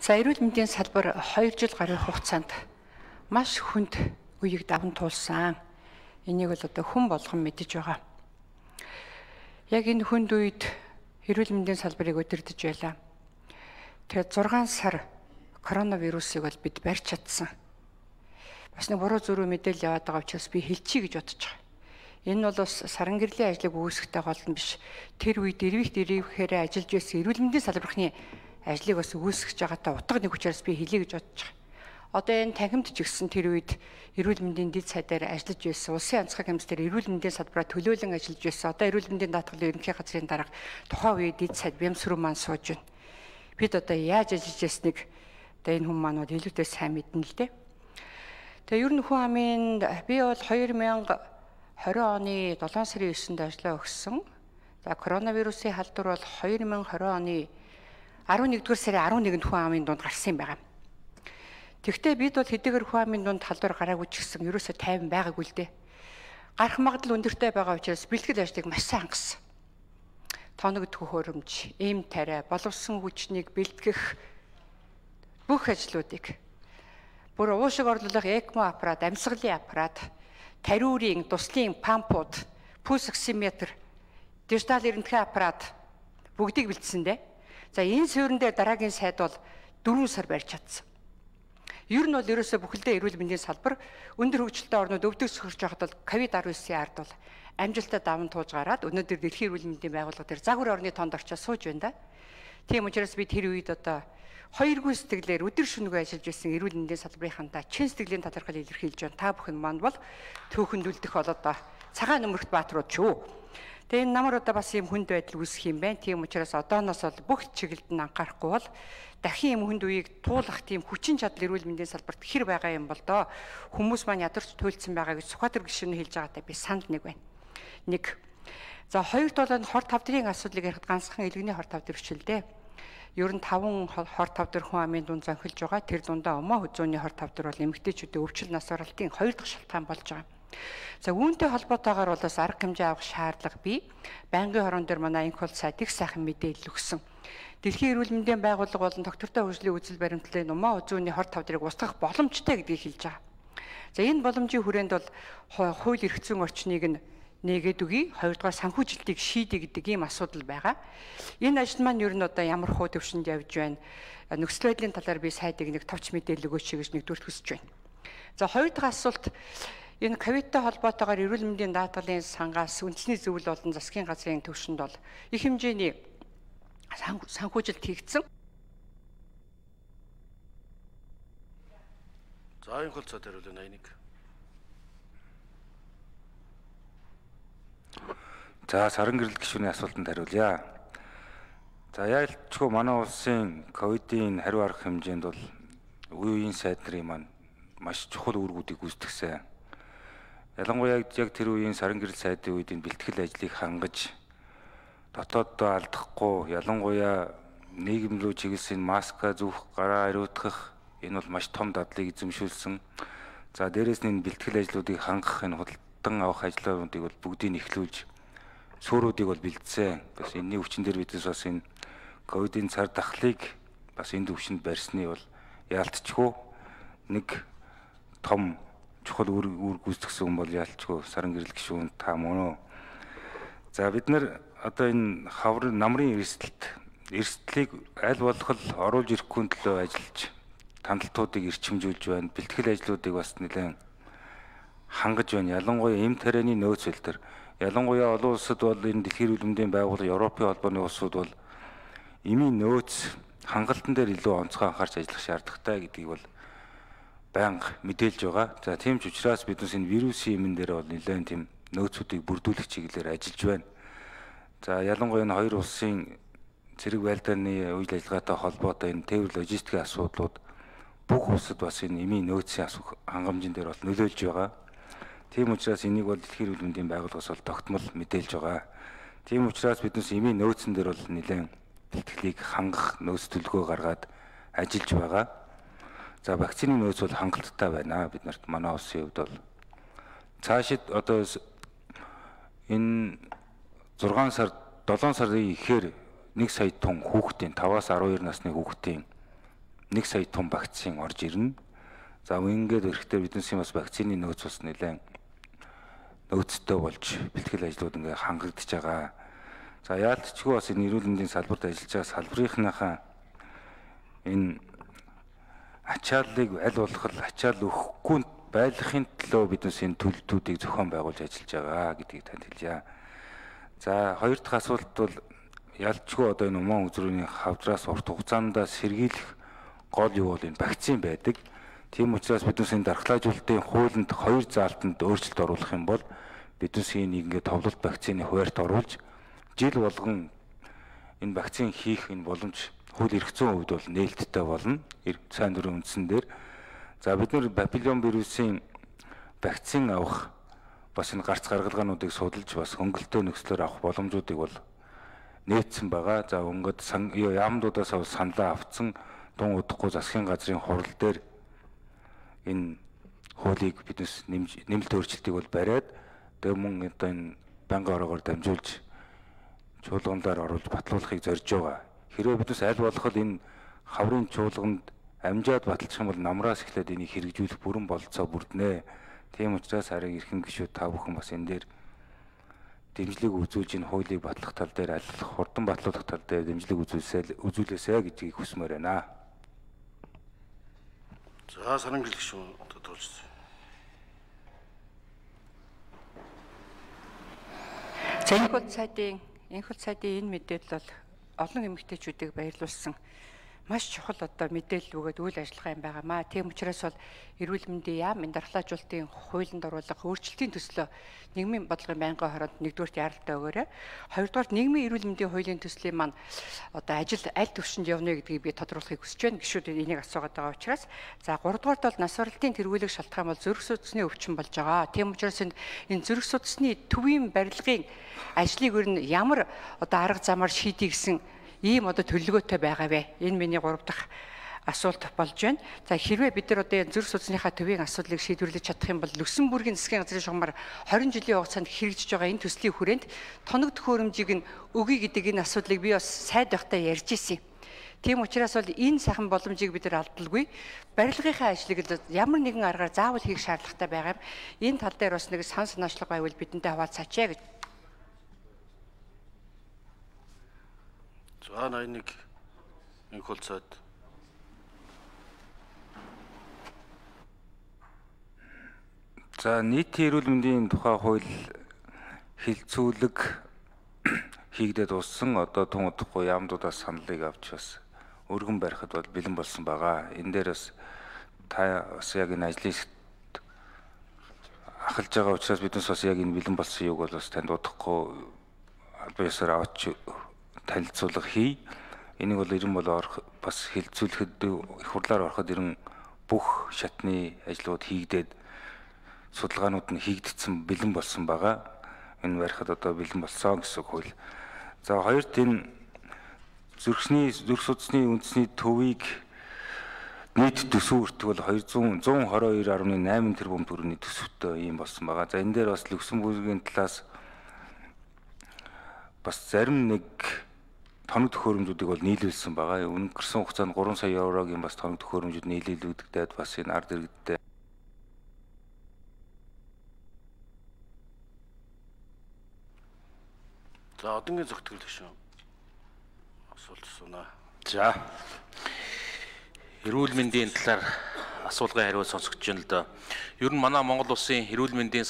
За эрүүл мэндийн салбар 2 жил гаруй хугацаанд маш хүнд үеийг даван туулсан. Энийг бол одоо хүн болгон мэдэж байгаа. Яг энэ хүнд үед эрүүл мэндийн салбарыг удирдах байлаа. Тэгээд 6 сар коронавирусыг бол бид барьж чадсан. Бас нэг буруу зөрүү мэдээлэл яваад байгаа учраас би хэлчихье гэж бодож байгаа. Энэ нь бол бас саран гэрлийн ажлыг үүсгэхтэй гол нь биш. Тэр үед дэрвэхээр ажиллаж байсан эрүүл мэндийн салбархны ажлыг бас үүсгэж байгаатай утга нэг учраас би хэлье гэж бодож байгаа. Одоо энэ танхимд ч гэсэн тэр үед эрүүл мэндийн дэд сайдаар ажиллаж байсан. Улсын онцгой комисс дээр эрүүл мэндийн салбараа төлөөлөн ажиллаж байсан. Одоо эрүүл мэндийн даатгалын ерөнхий газрын дарга тухайн үеийн дэд сайд Бямсруу маань сууж байна. Бид одоо яаж ажиллаж байсныг одоо энэ хүмүүс маань илүүтэй сайн мэднэ л дээ. Тэгээ ер нь хүн амын би бол 2020 оны 7 сарын 9-нд ажлаа өгсөн. За коронавирусын халдвар бол 2020 оны 11-р сарын 11-нд хүн амын дунд гарсан юм байна. Тэгвэл бид бол хэдийгээр хүн амын дунд халдвар гараагүй ч гэсэн ерөөсөө 50 байгаагүй л дээ. Гарах магадлал өндөртэй байгаа учраас бэлтгэл ажлыг маш сайн хангасан. Тоногдох хөрөмж, эм тариа, боловсон хүчнийг бэлтгэх бүх ажлуудыг бүр уушиг орлуулах ЭКМО аппарат, амьсгалын аппарат, тариурын, туслын пампууд, пульс оксиметр, дижитал эрдэнэтгэн аппарат бүгдийг бэлдсэн дээ. За энэ суурин дээр дараагийн сайд бол 4 сар барьж чадсан. Ер нь бол ерөөсөө бүхэлдээ эрүүл мэндийн салбар өндөр хөгжилтэй орнууд өвдөг сөхөрч байхад бол COVID-19-ийн ард бол амжилттай даван туулж гараад өнөөдөр дэлхийн эрүүл мэндийн байгууллага дээр загвар орны тоонд орчиж сууж байна да. Тийм учраас би тэр үед одоо хоёргүй сэтгэлээр өдөр шөнөгүй ажиллаж байсан эрүүл мэндийн салбарынхантаа чин сэтгэлийн талархал илэрхийлж байна. Та бүхэн маань бол түүхэнд үлдэх болоод цагаан нөмөрт бааtruуд ч үү. Тэгээ энэ намар одоо бас юм хүнд байдал үүсэх юм байна. Тийм учраас одооноос бол бүх чиглэлд нь анхаарахгүй бол дахин юм хүнд үеийг туулах тийм хүчин чадал эрүүл мэндийн салбарт хэр байгаа юм бол доо хүмүүс маань ядарч туйлдсан байгаа гэж Сүхбаатар гишүүн хэлж байгаатай би санд нэг байна. Нэг. За хоёрт бол хор тавдрын асуудлыг ярихад ганцхан илгэний хор тавдар биш л дээ. Ер нь 5 хор тавдар хүн амын дунд зонхилж байгаа. Тэр дундаа өмөө хүзүүний хор тавдар бол эмэгтэйчүүдийн өвчл нас баралтын 2 дахь шалтгаан болж байгаа. За үүнтэй холбоотойгоор бол бас арга хэмжээ авах шаардлага бий. Байнгын хорон дээр манай инкол сайд их сайхан мэдээлэл өгсөн. Дэлхийн эрүүл мэндийн байгууллага болон доктортой хөгжлийн үзэл баримтлалын өмөө хүзүүний хор тавдрыг устгах боломжтой гэдгийг хэлж байгаа. За энэ боломжийн хүрээнд бол хууль эрх зүйн орчныг нь нэгээд үгүй, хоёрдугаар санхүүжилтийг шийдэ гэдэг ийм асуудал байгаа. Энэ ажил маань ер нь одоо ямар хуу төвшөнд явж байна. Нөхцөл байдлын талаар би сайдыг нэг товч мэдээлэл өгөөч гэж нэгдүгээр хүсэж байна. За хоёр дахь асуулт энэ ковидтай холбоотойгоор эрүүл мэндийн даатгалын сангаас үндэсний зөвлөл болон засгийн газрын төвшөнд бол их хэмжээний санхүүжилт хийгдсэн. За энэ хол цаад хариулна 81. За саран гэрэл гишүүний асуултанд хариулъя. За яалтчгүй манай улсын ковидын хариу арга хэмжээнд бол үеийн сайд нарын маань маш чухал үүргүүдийг гүйцэтгсэн. Ялангуяа яг тэр үеийн саран гэрэл сайдын үед энэ бэлтгэл ажлыг хангаж дотооддоо алдахгүй, ялангуяа нийгэм рүү чиглэсэн маска зүүх, гараа ариутгах энэ бол маш том дадлыг эзэмшүүлсэн. За дээрээс нь энэ бэлтгэл ажлуудыг хангах энэ худалдан авах ажлуудыг бол бүгдийг эхлүүлж сууруудыг бол бэлдсэн. Бас энэний өвчин дээр бидээс бас энэ ковидын цар тахлыг бас энэ төвшөнд барьсны бол яалтчгүй нэг том чухал үр гүйцэтгсэн хүн бол яалтчгүй саран гэрэл гишүүн та мөн үү. За бид нар одоо энэ хавар намрын эрсдлийг аль болох оруулж ирэхгүй төлөө ажиллаж тандалтуудыг эрчимжүүлж байна. Бэлтгэл ажлуудыг бас нэлээд хангаж байна. Ялангуяа эм тарианы нөөц хэлтер. Ялангуяа олон улсад бол энэ дэлхийн эрүүл мэндийн байгууллага, Европын холбооны улсууд бол эмийн нөөц хангалтан дээр илүү онцгой анхаарч ажиллах шаардлагатай гэдгийг бол байнга мэдээлж байгаа. За тийм ч учраас биднес энэ вирусын эмэн дээр бол нэлээд тийм нөөцүүдийг бүрдүүлэх чиглэлээр ажиллаж байна. За ялангуяа энэ хоёр улсын цэрэг байлдааны үйл ажиллагаатай холбоотой энэ тээвэр логистикийн асуудлууд бүх улсад бас энэ эмийн нөөцийн хангамжийн дээр бол нөлөөлж байгаа. Тийм учраас энийг бол дэлхийн эрүүл мэндийн байгууллагаас бол тогтмол мэдээлж байгаа. Тийм учраас биднес эмийн нөөцөн дээр бол нэлээд бэлтгэлийг хангах нөөц төлөвлөгөө гаргаад ажиллаж байгаа. За вакцины нөөц бол хангалттай байна. Бид нарт манай улсын хувьд бол цаашид одоо энэ 7 сарын ихээр 1 сая тонн хүүхдийн 5-аас 12 насны хүүхдийн 1 сая тонн вакцин орж ирнэ. За ингээд эрэхтэй биднээсийн бас вакцины нөөц бас нэлээд нөөцтэй болж бэлтгэл ажлууд ингээ хангагдж байгаа. За яалтчгүй бас энэ эрүүл мэндийн салбарт ажиллаж байгаа салбарынхнаа энэ ачааллыг аль болох ачаал өгөхгүй байлгахын төлөө биднээс энэ төлөлтүүдийг зохион байгуулж ажиллаж байгаа гэдгийг танд хэлье. За хоёр дахь асуулт бол ялчгүй одоо энэ уман үзрүүний хавдраас урт хугацаанд сэргийлэх гол юу бол энэ вакцин байдаг. Тийм учраас биднээс энэ дархлаажуулалтын хуулинд хоёр заалтанд өөрчлөлт оруулах юм бол биднээс энийг ингээд товлолт вакцины хуваарьт оруулж жил болгон энэ вакцин хийх энэ боломж хууль эрх зүйн хувьд бол нээлттэй болно. Сайн дурын үндсэн дээр. За бид нар папиллон вирусын вакцин авах бас энэ гарц гаргалгаануудыг судалж бас хөнгөлтөө нөхцлөөр авах боломжуудыг бол нээсэн байгаа. За өнгөд яамдуудаас саналаа авцсан тун удахгүй засгийн газрын хурал дээр энэ хуулийг биднес нэмэлт өөрчлөлтийг бол бариад тэгээ мөн одоо энэ банкны ороогоор дамжуулж чуулганаар оруулж батлуулахыг зорж байгаа. Хэрвээ биднес аль болох энэ хаврын чуулганд амжаад баталчих юм бол намраас эхлээд энийг хэрэгжүүлэх бүрэн бололцоо бүрднэ. Тийм учраас харин эрхэм гишүүд та бүхэн бас энэ дээр дэмжлэг үзүүлж энэ хуулийг батлах тал дээр аль хурдан батлуулах тал дээр дэмжлэг үзүүлээсэй гэдгийг хүсмээр байна. За Сарангэрэл гишүүн тодорхойлж. За энэ хөл сайдын энэ мэдээлэл бол олон эмэгтэйчүүдийг баярлуулсан маш чухал одоо мэдээлэл өгөөд үйл ажиллагаа юм байгаамаа. Тийм учраас бол эрүүл мэндийн яам энэ дархлаажуулалтын хуулинд оруулах өөрчлөлтийн төслөө нийгмийн бодлогын байнгын хороонд нэгдүгürt яралтай өгөөрэй. Хоёрдугаар нийгмийн эрүүл мэндийн хуулийн төслийн маань одоо ажил аль түвшинд явна гэдгийг би тодруулахыг хүсэж байна. Гишүүд энийг асуугаад байгаа учраас за гуравдугаарт бол нас баралтын тэргүүлэг шалтгаан бол зүрх судасны өвчин болж байгаа. Тийм учраас энэ зүрх судасны төвийн барилгын ажлыг өөр нь ямар одоо арга замаар шийдий гэсэн ийм одоо төлөвлөгөөтэй байгаа вэ? Энэ миний 3 дахь асуулт болж байна. За хэрвээ бид нар одоо зүрх судасныхаа төвийн асуудлыг шийдвэрлэж чадах юм бол Люксембургийн засгийн газрын шугамар 20 жилийн хугацаанд хэрэгжиж байгаа энэ төслийн хүрээнд тоног төхөөрөмжийг нь өгье гэдэг энэ асуудлыг би бас сайд байхдаа ярьж ирсэн. Тийм учраас бол энэ сайхан боломжийг бид нар алдалгүй. Барилгынхаа ажлыг ямар нэгэн аргаар заавал хийх шаардлагатай байгаа юм. Энэ тал дээр бас нэг сан санаачлага байвал бидэнтэй хаваалцаач гэж. За 81 энэ хөлцөөд за нийтийн эрүүл мэндийн тухай хууль хилцүүлэг хийгдээд уссан одоо тун удахгүй яамдуудаас саналыг авч бас өргөн барихад бол бэлэн болсон байгаа. Энэ дээр бас та бас яг энэ ажлыг ахалж байгаа учраас биднес бас яг энэ бэлэн болсон юуг бол бас танд удахгүй албан ёсоор авч танилцуулга хий. Энийг бол ерөн бол бас хилцүүлэхэд их хурлаар ороход ерөн бүх шатны ажлууд хийгдээд судалгаанууд нь хийгдсэн бэлэн болсон байгаа. Энэ барихад одоо бэлэн болсон гэсэн хууль. За хоёрт энэ зүрх судасны үндэсний төвийг нийт төсөв өртгөл 122.8 тэрбум төгрөгийн төсөвтэй юм болсон байгаа. За энэ дээр бас Люксембургийн талаас бас зарим нэг тоног төхөөрөмжүүдийг бол нийлүүлсэн байгаа. Өнгөрсөн хугацаанд 3 сая еврогийн бас тоног төхөөрөмжүүд нийлүүлэгдээд бас энэ ард иргэдтэй за одонгийн зөвтгөл гишүүн асуулт асуунаа. За эрүүл мэндийн талаар асуулгын хариулт сонсогч байна л да. Ер нь манай Монгол улсын эрүүл мэндийн